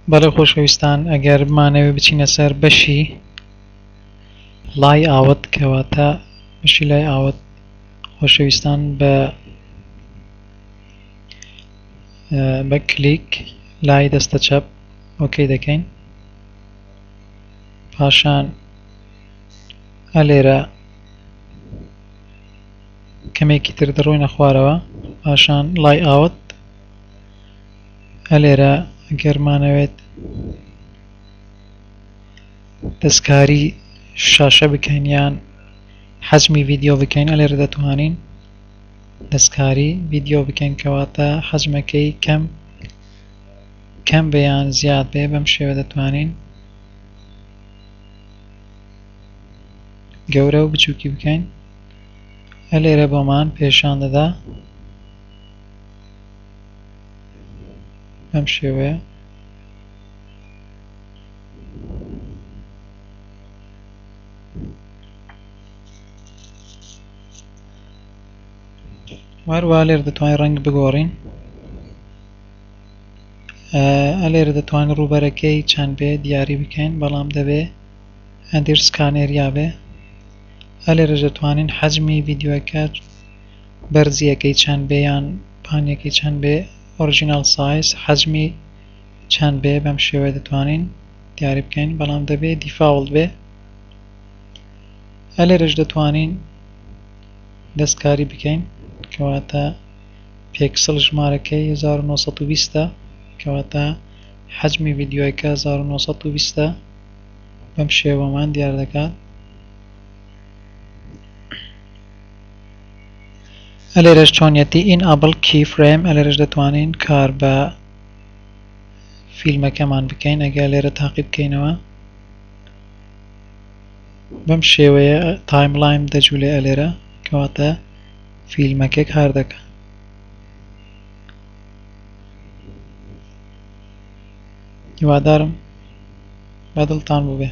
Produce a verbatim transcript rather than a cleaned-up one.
بەڵێ خۆشەویستان، ئەگەر بمانەوێت بچینە سەر بەشی layout، کەواتە بەشی layout خۆشەویستان بە بە کلیک لای دەستە چەپ okay دەکەین. پاشان ئەلێرە کەمێکی تر دەڕۆینە خوارەوە، پاشان layout. ئەلێرە ئەگەرمانەوێت دەستکاری شاشە بکەین یان حەجمی ڤیدیۆ بکەین، ئەلێرە دەتوانین دەستکاری ڤیدیۆ بکەین، کەواتە حەجمەکەی کەم کەم بێ یان زیاد بێ. بەم شێوە دەتوانین گەورە و بچووکی بکەین. ئەلێرە بۆمان پێشان دەدا بەم شێوەیە. وهەروەها لێرە دەتوانین ڕەنگ بگۆڕین. ئەلێرە دەتوانین ڕووبەرەکەی چەند بێ دیاری بکەین، بەڵام دەبێ underscore area بێ. ئەلێرەش دەتوانین حەجمی ڤیدیۆکە بەرزیەکەی چەند بێ یان پانیەکەی چەند بێ، original size حەجمی چەند بێ، بەم شێوەیە دەتوانین دیاری بکەین، بەڵام دەبێ default بێ. ئەلێرەش دەتوانین دەستکاری بکەین، کەواتە پێکسل ژمارەکەی هەزار و نۆ سەد و بیست، کەواتە حەجمی ڤیدیۆکە هەزار و نۆ سەد و بیست، بەم شێوەمان دیار دەکات. ئەلێرەش چۆنیەتی enable keyframe، ئەلێرەش دەتوانین کار بە فیلمەکەمان بکەین. ئەگەر لێرە تاقی بکەینەوە بەم شێوەیە timeline دەجوولێ ئەلێرە، کەواتە فیلمەکە کار دەکات. هیوادارم بەدڵتان بووبێ.